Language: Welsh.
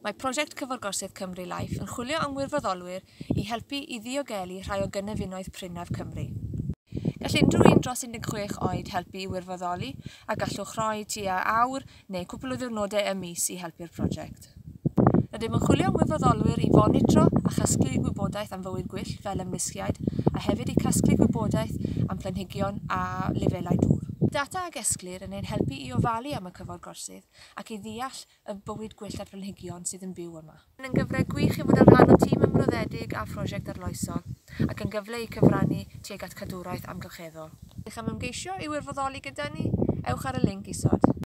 Mae prosiect Cyforgorsydd Cymru Life yn chwilio am wirfoddolwyr i helpu i ddiogelu rhai o gynefinoedd prinnaf Cymru. Gall unrhyw un dros 16 oed helpu i wirfoddoli a gallwch rhoi tua awr neu cwpl o ddiwrnodau y mis i helpu'r prosiect. Rydym yn chwilio am wirfoddolwyr i fonitro a chasglu gwybodaeth am fywyd gwyllt fel ymlusgiaid a hefyd i casglu gwybodaeth am planhigion a lefelau dŵr. Data a gesglir yn ein helpu i ofalu am y cyforgorsydd ac i ddeall y bywyd gwyllt a'r planhigion sydd yn byw yma. Yn gyfle gwych i fod yn rhan o tîm ymroddedig a phrosiect arloesol ac yn gyfle i cyfrannu tuag at cadwraeth amgylcheddol. Ydych am ymgeisio i wirfoddoli gyda ni? Ewch ar y linc isod.